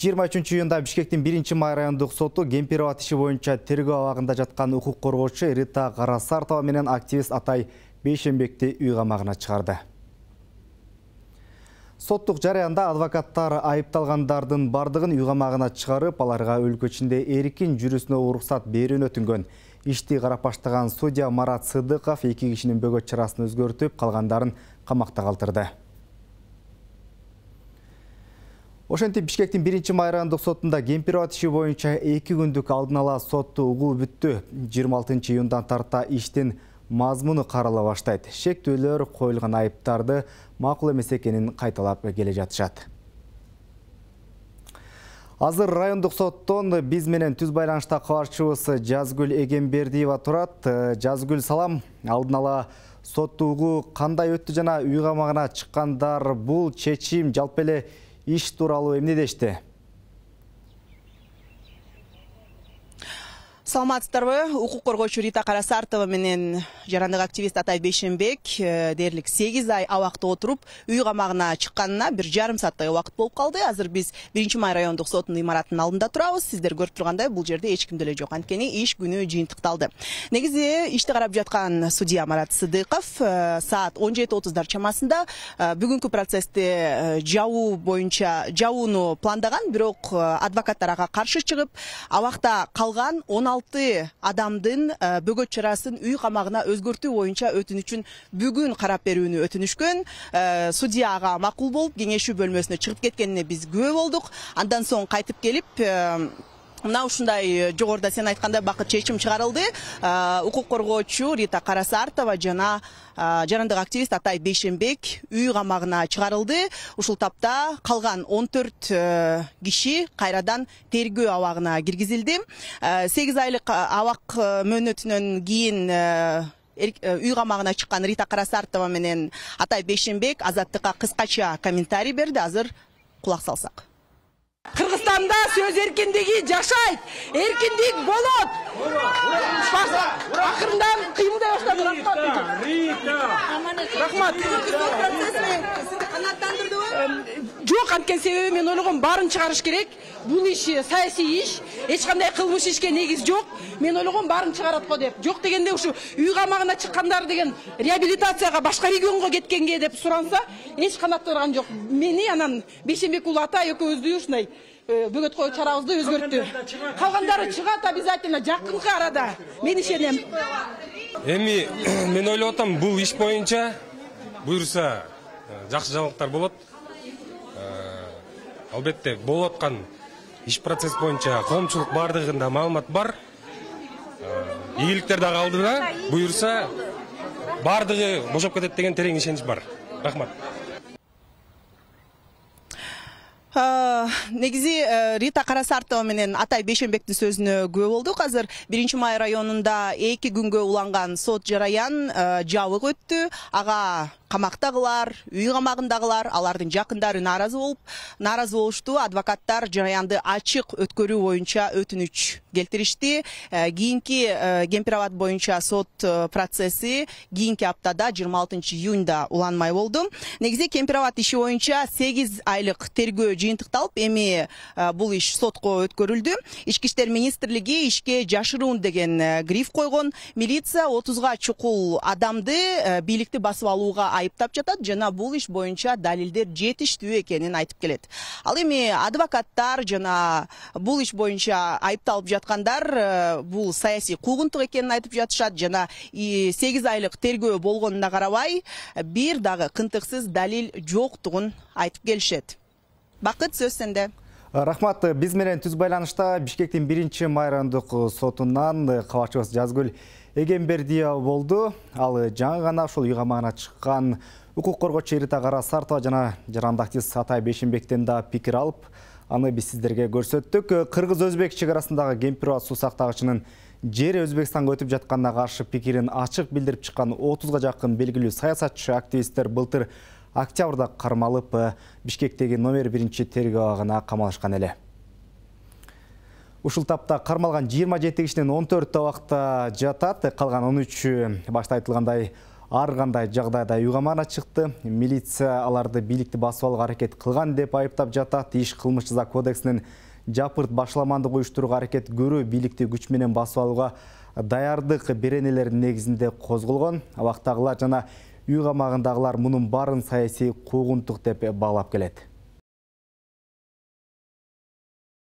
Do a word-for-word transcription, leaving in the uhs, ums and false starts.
жыйырма үчүнчү июнда Бишкектин биринчи май райондук соту Кемпирабад иши боюнча тергөө абагында жаткан укук коргоочу Рита Карасартова менен активист Атай Бейшенбекти үй камагына чыгарды. Соттук жарыянда адвокаттар айыпталгандардын бардыгын үй камагына чыгарып, аларга өлкө ичинде эркин жүрүүсүнө уруксат берүүнү өтүнгөн. Ишти карап баштаган судья Марат Сыдыков эки кишинин бөгөт чарасын өзгөртүп, калгандарын камакта калтырды. Ошентип Бишкектин биринчи май райондук сотунда Кемпирабад иши боюнча эки күндүк алдын ала сотту угуу бүттү. жыйырма алтынчы июндан тарта иштин мазмуну карала баштайт. Шектөөлөр коюлган айыптарды макул эмес экенин кайталап келе жатышат. Азыр райондук соттон биз менен түз байланышта кабарчыбыз Жазгүл Эгембердиева турат. Жазгүл, салам. Алдын ала сотту угуу кандай өттү жана үй камагына чыккандар бул чечим жалпы эле иш тууралуу эмне дешти? Саламатсыздарбы? Укук коргоочу Рита Карасартова менен жарандык активист Атай Бейшенбек дээрлик сегиз ай абакта отуруп, үй камагына чыкканына бир жарым сааттай убакыт болуп калды. Азыр биз биринчи май райондук сотунун имаратынын алдында турабыз. Сиздер көрүп тургандай, бул жерде эч ким деле жок. Анткени иш күнү жыйынтыкталды. Негизи ишти карап жаткан судья Марат Сыдыков саат он жети отуздар чамасында бүгүнкү процессти жабуу боюнча жабууну пландаган, бирок адвокаттар ага каршы чыгып, абакта калган он алты адамдын бөгөт чарасын үй камагына өзгөртүү боюнча өтүнүчүн бүгүн карап берүүнү өтүнүшкөн. Судья ага макул болуп, кеңешүү бөлмөсүнө чыгып кеткенине биз күбө болдук. Андан соң кайтып келип, мына ушундай жогоруда сен айткандай бакыт чечим чыгарылды. Укук коргоочу Рита Карасартова жана жарандык активист Атай Бейшенбек үй камагына чыгарылды. Ушул тапта калган он төрт киши кайрадан тергөө абагына киргизилди. сегиз айлык абак мөөнөтүнөн кийин үй камагына чыккан Рита Карасартова менен Атай Бейшенбек Азаттыкка кыскача комментарий берди. Азыр кулак салсак. Кыргызстанда сөз эркиндиги жашайт, эркиндик болот. Акырындан кыймылдай баштады. Рахмат. Жок, анткени себеби мен ойлогом баарын чыгарыш керек. Бул иш саясий иш, эч кандай кылмыш ишке негиз жок. Мен ойлогом баарын чыгарат го деп. Жок дегенде ушу үй камагына чыккандар деген реабилитацияга башка регионго кеткенге деп суранса, эч канат турган жок. Мени анан Бейшенбек уулу Атай экөөбүздү ушундай бөгөт коюу чарабызды өзгөрттү. Калгандары чыгат обязательно жакынкы арада. Мен ишенем. Эми мен ойлоп атам, бул иш боюнча буюрса жакшы жаңылыктар болот. Албетте болуп аткан иш процесс боюнча коомчулук бардыгында маалымат бар. Ийгиликтер дагы алдыда. Буюрса бардыгы бошоп кетет деген терең ишенич бар. Рахмат. Негизи Рита Карасартова менен Атай Бейшенбектин сөзүнө күбө болдук. Азыр биринчи май районунда эки күнгө уланган сот жараян жабык өттү. Ага камактагылар, үй камагындагылар, алардын жакындары нааразы болуп, нааразы болушту. Адвокаттар жараянды ачык өткөрүү боюнча өтүнүч келтиришти. Кийинки Кемпирабад боюнча сот процесси кийинки аптада жыйырма алтынчы июнда уланмай болду. Негизи Кемпирабад иши боюнча сегиз айлык тергөө жыйынтыкталып, эми бул иш сотко өткөрүлдү. Ички иштер министрлиги ишке жашыруун деген гриф койгон. Милиция отузга чукул адамды бийликти басып алууга айыптап жатат жана бул иш боюнча далилдер жетиштүү экенин айтып келет. Ал эми адвокаттар жана бул иш боюнча айыпталып жаткандар бул саясий куугунтук экенин айтып жатышат жана сегиз айлык тергөө болгонуна карабай бир дагы кынтыксыз далил жоктугун айтып келишет. Бакыт, сөз сенде. Рахмат. Биз менен түз байланышта Бишкектин биринчи май райондук сотунан кабарчыбыз Жазгүл Эгембердиева болду. Ал жаңы гана ушул үй камагына чыккан укук коргоочу Рита Карасартова жана жарандык активист Атай Бейшенбектен да пикир алып, аны биз сиздерге көрсөттүк. Кыргыз-өзбек чегарасындагы Кемпирабад суу сактагычынын жери Өзбекстанга өтүп жатканына каршы пикирин ачык билдирип чыккан отузга жакын белгилүү саясатчы активисттер былтыр октябрда кармалып Бишкектеги номер биринчи тергөө абагына камалышкан эле. Ушул тапта кармалган жыйырма жети кишинин он төртү абакта жатат, калган он үчү башта айтылгандай ар кандай жагдайда үй камагына чыкты. Милиция аларды бийликти басып алууга аракет кылган деп айыптап жатат. Иш кылмыш жаза кодексинин жапырт башламандык уюштурууга аракет көрүү бийликти күч менен басып алууга даярдык беренелеринин негизинде козголгон. Абактагылар жана үй камагындагылар мунун баарын саясий куугунтук деп баалап келет.